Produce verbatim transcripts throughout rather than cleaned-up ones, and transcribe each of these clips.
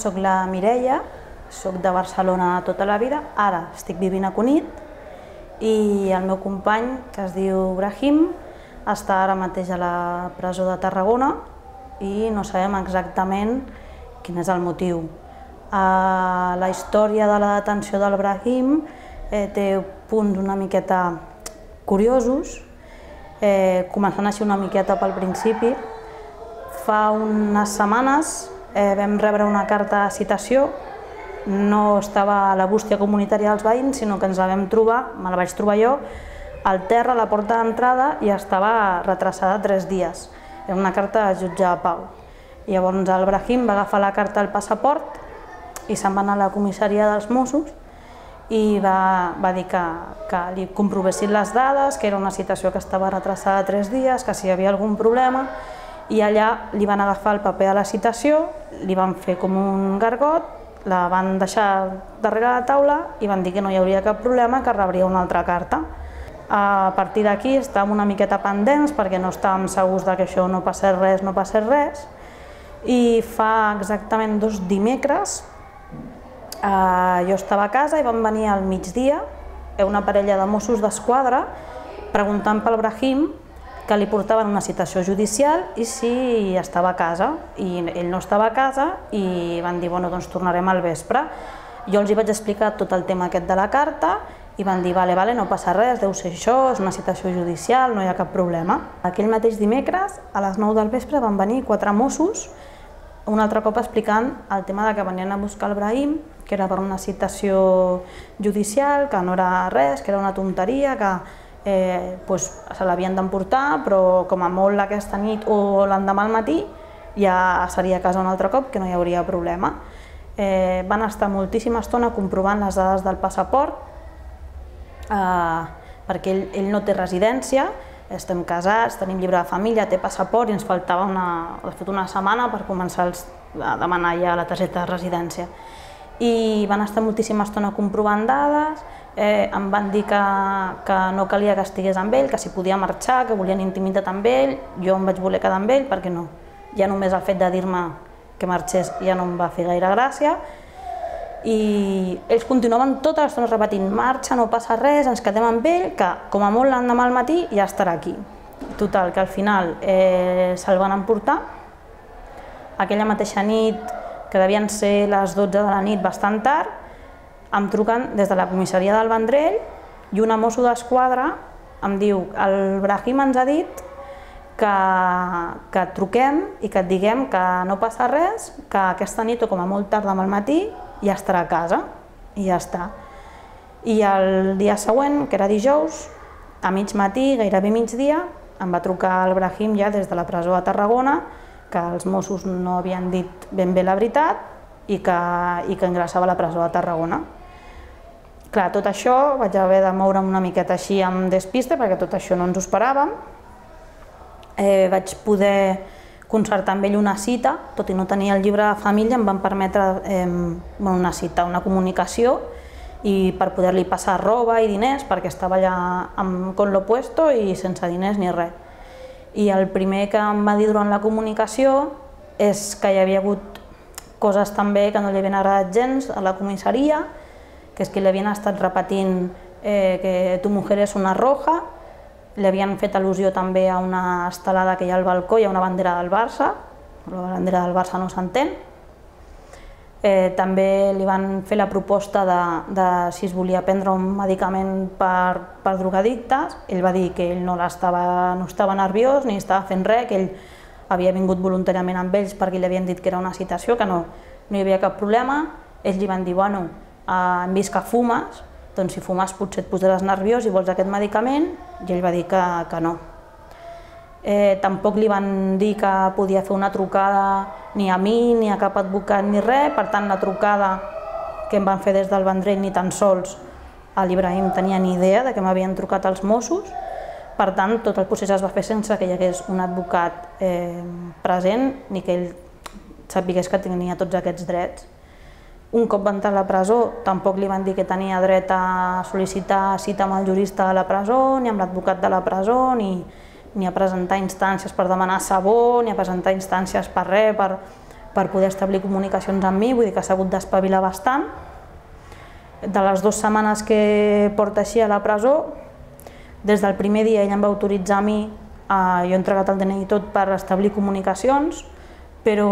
soc la Mireia, soc de Barcelona tota la vida, ara estic vivint a Cunit i el meu company, que es diu Brahim, està ara mateix a la presó de Tarragona i no sabem exactament quin és el motiu. La història de la detenció del Brahim té punts una miqueta curiosos, començant així una miqueta pel principi. Fa unes setmanes vam rebre una carta de citació, no estava a la bústia comunitària dels veïns, sinó que ens la vam trobar, me la vaig trobar jo, al terra a la porta d'entrada i estava retrasada tres dies. Era una carta de jutge de pau. Llavors el Brahim va agafar la carta al passaport i se'n va anar a la comissaria dels Mossos i va, va dir que, que li comprovessin les dades, que era una citació que estava retrasada tres dies, que si hi havia algun problema, i allà li van agafar el paper de la citació, li van fer com un gargot, la van deixar darrere la taula i van dir que no hi hauria cap problema, que rebria una altra carta. A partir d'aquí estàvem una miqueta pendents perquè no estàvem segurs que això no passés res, no passés res, i fa exactament dos dimecres jo estava a casa i van venir al migdia una parella de Mossos d'Esquadra preguntant pel Brahim, que li portaven una citació judicial i si estava a casa, i ell no estava a casa i van dir, bueno, doncs tornarem al vespre. Jo els hi vaig explicar tot el tema aquest de la carta i van dir, vale, vale, no passa res, deu ser això, és una citació judicial, no hi ha cap problema. Aquell mateix dimecres, a les nou del vespre, van venir quatre Mossos, un altre cop explicant el tema de que venien a buscar el Brahim, que era per una citació judicial, que no era res, que era una tonteria, que Eh, pues, se l'havien d'emportar, però com a molt aquesta nit o l'endemà al matí ja seria a casa un altre cop, que no hi hauria problema. Eh, van estar moltíssima estona comprovant les dades del passaport, eh, perquè ell, ell no té residència, estem casats, tenim llibre de família, té passaport i ens faltava una, de fet una setmana per començar a demanar ja la targeta de residència. I van estar moltíssima estona comprovant dades, eh, em van dir que, que no calia que estigués amb ell, que si podia marxar, que volien intimitat amb ell, jo em vaig voler quedar amb ell perquè no, ja només el fet de dir-me que marxés ja no em va fer gaire gràcia, i ells continuaven tota l'estona repetint, marxa, no passa res, ens quedem amb ell, que com a molt l'endemà al matí ja estarà aquí. Total, que al final eh, se'l van emportar, aquella mateixa nit, que devien ser les dotze de la nit, bastant tard, em truquen des de la comissaria del Vendrell i una mosso d'esquadra em diu, el Brahim ens ha dit que, que et truquem i que et diguem que no passa res, que aquesta nit o com a molt tard demà al matí ja estarà a casa i ja està. I el dia següent, que era dijous, a mig matí, gairebé migdia, em va trucar el Brahim ja des de la presó de Tarragona, que els Mossos no havien dit ben bé la veritat i que, i que ingressava a la presó de Tarragona. Clar, tot això vaig haver de moure'm una miqueta així amb despiste perquè tot això no ens ho esperàvem. Eh, vaig poder concertar amb ell una cita, tot i no tenir el llibre de família, em van permetre eh, una cita, una comunicació, i per poder-li passar roba i diners perquè estava allà amb con lo puesto i sense diners ni res. I el primer que em va dir durant la comunicació és que hi havia hagut coses també que no li havien agradat gens a la comissaria, que és que li havien estat repetint eh, que tu mujer és una roja, li havien fet al·lusió també a una estelada que hi ha al balcó, hi ha una bandera del Barça, la bandera del Barça no s'entén. Eh, també li van fer la proposta de, de si es volia prendre un medicament per, per drogadictes. Ell va dir que ell no, estava, no estava nerviós ni estava fent res, que ell havia vingut voluntàriament amb ells perquè li havien dit que era una citació, que no, no hi havia cap problema. Ells li van dir, bueno, eh, hem vist que fumes, doncs si fumes potser et posaràs nerviós i vols aquest medicament, i ell va dir que, que no. Eh, tampoc li van dir que podia fer una trucada ni a mi, ni a cap advocat, ni res, per tant la trucada que em van fer des del Vendrell ni tan sols l'Ibrahim tenia ni idea de que m'havien trucat els Mossos, per tant tot el procés es va fer sense que hi hagués un advocat eh, present ni que ell sapigués que tenia tots aquests drets. Un cop va entrar a la presó tampoc li van dir que tenia dret a sol·licitar cita amb el jurista de la presó, ni amb l'advocat de la presó, ni ni a presentar instàncies per demanar sabó, ni a presentar instàncies per res, per, per poder establir comunicacions amb mi, vull dir que s'ha hagut d'espavilar bastant. De les dues setmanes que porta així a la presó, des del primer dia ell em va autoritzar a mi, jo he entregat el D N I tot per establir comunicacions, però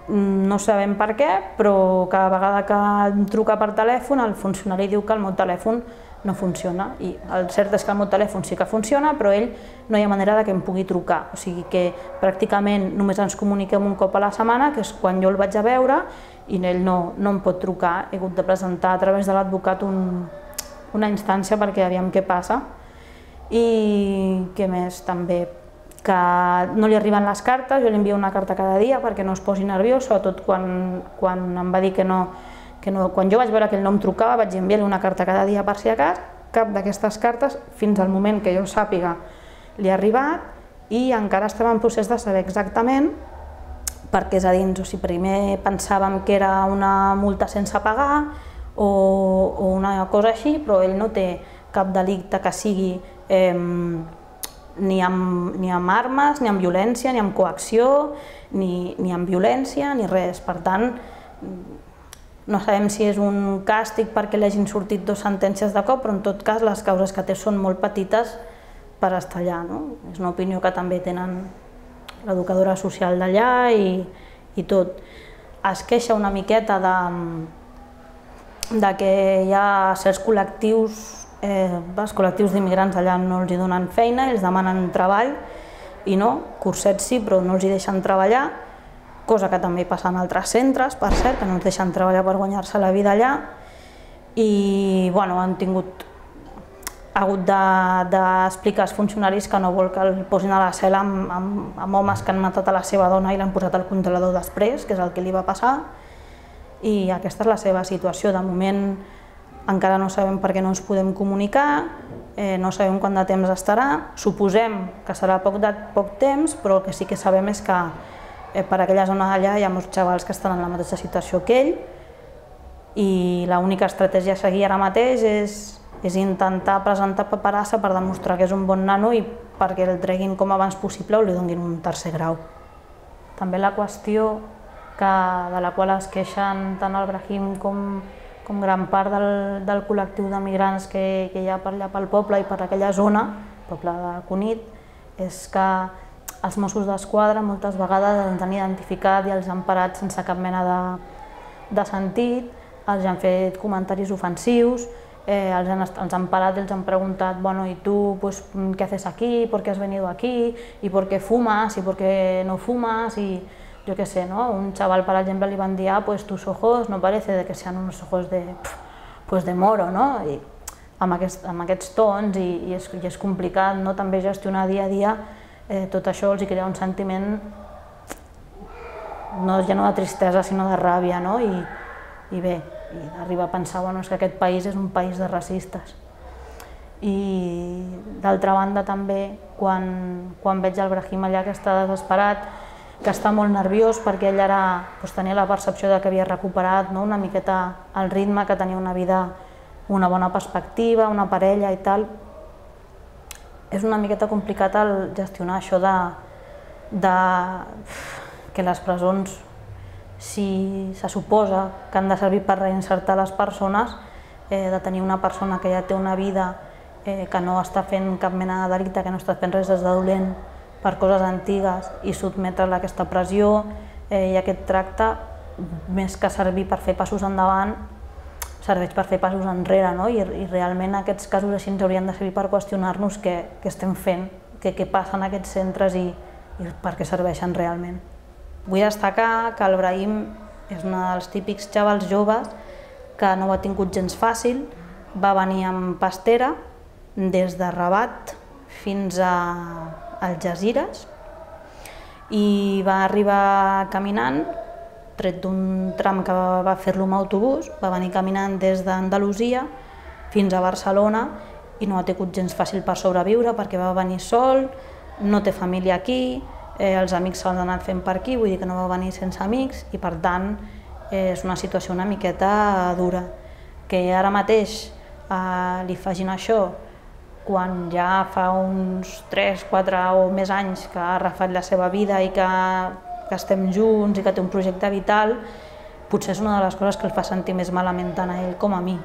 no sabem per què, però cada vegada que em truca per telèfon el funcionari diu que el meu telèfon no funciona. I el cert és que el meu telèfon sí que funciona, però ell no hi ha manera de que em pugui trucar. O sigui que pràcticament només ens comuniquem un cop a la setmana, que és quan jo el vaig a veure, i ell no, no em pot trucar. He hagut de presentar a través de l'advocat un, una instància perquè aviam què passa. I què més també? Que no li arriben les cartes, jo li envio una carta cada dia perquè no es posi nerviós, sobretot quan, quan em va dir que no, que no, quan jo vaig veure que ell no em trucava vaig enviar-li una carta cada dia per si a cas, cap d'aquestes cartes fins al moment que jo sàpiga li ha arribat i encara estem en procés de saber exactament perquè és a dins, o sigui, primer pensàvem que era una multa sense pagar o, o una cosa així, però ell no té cap delicte que sigui eh, ni amb, ni amb armes, ni amb violència, ni amb coacció, ni, ni amb violència, ni res. Per tant, no sabem si és un càstig perquè li hagin sortit dues sentències de cop, però en tot cas les causes que té són molt petites per estar allà. No? És una opinió que també tenen l'educadora social d'allà i, i tot. Es queixa una miqueta de, de que hi ha certs col·lectius Eh, els col·lectius d'immigrants allà no els hi donen feina, ells demanen treball i no, cursets sí, però no els hi deixen treballar, cosa que també passa en altres centres, per cert, que no els deixen treballar per guanyar-se la vida allà i bueno, han tingut ha hagut d'explicar als funcionaris que no vol que el posin a la cel·la amb, amb, amb homes que han matat a la seva dona i l'han posat al congelador després, que és el que li va passar, i aquesta és la seva situació. De moment encara no sabem per què no ens podem comunicar, eh, no sabem quant de temps estarà, suposem que serà poc, de, poc temps, però el que sí que sabem és que eh, per aquella zona d'allà hi ha molts xavals que estan en la mateixa situació que ell i l'única estratègia a seguir ara mateix és, és intentar presentar paperassa per demostrar que és un bon nano i perquè el treguin com abans possible o li donin un tercer grau. També la qüestió que, de la qual es queixen tant el Brahim com com gran part del, del col·lectiu d'emigrants que, que hi ha per allà pel poble i per aquella zona, el poble de Cunit, és que els Mossos d'Esquadra moltes vegades els han identificat i els han parat sense cap mena de, de sentit, els han fet comentaris ofensius, eh, els, han, els han parat i els han preguntat bueno, ¿y tú pues, qué haces aquí? ¿Por qué has venido aquí? ¿Y por qué fumas? ¿Y por qué no fumas? Y, yo qué sé, ¿no? Un chaval, por ejemplo, le van a decir, ah, pues tus ojos no parece de que sean unos ojos de, pues de moro, no? I amb, aquest, amb aquests tons i, i, és, i és complicat, no? També gestionar dia a dia eh, tot això els crea un sentiment no ja no de tristesa sinó de ràbia, no? I, i bé, i arriba a pensar bueno, és que aquest país és un país de racistes. I d'altra banda també, quan, quan veig el Brahim allà que està desesperat, que està molt nerviós perquè ell ara doncs, tenia la percepció de que havia recuperat no? una miqueta el ritme, que tenia una vida, una bona perspectiva, una parella i tal. És una miqueta complicat el gestionar això de, de que les presons, si se suposa que han de servir per reinsertar les persones, eh, de tenir una persona que ja té una vida, eh, que no està fent cap mena de delicte, que no està fent res de dolent, per coses antigues i sotmetre-la a aquesta pressió eh, i aquest tracte, més que servir per fer passos endavant, serveix per fer passos enrere, no? I, i realment aquests casos així ens haurien de servir per qüestionar-nos què, què estem fent, què, què passa en aquests centres i, i per què serveixen realment. Vull destacar que el Brahim és un dels típics xavals joves que no ho ha tingut gens fàcil, va venir amb pastera des de Rabat fins a Algesires i va arribar caminant, tret d'un tram que va fer-lo amb autobús, va venir caminant des d'Andalusia fins a Barcelona i no ha tingut gens fàcil per sobreviure perquè va venir sol, no té família aquí, eh, els amics s'han anat fent per aquí, vull dir que no va venir sense amics i per tant eh, és una situació una miqueta dura. Que ara mateix eh, li facin això quan ja fa uns tres, quatre o més anys que ha refat la seva vida i que que estem junts i que té un projecte vital, potser és una de les coses que el fa sentir més malament tant a ell com a mi.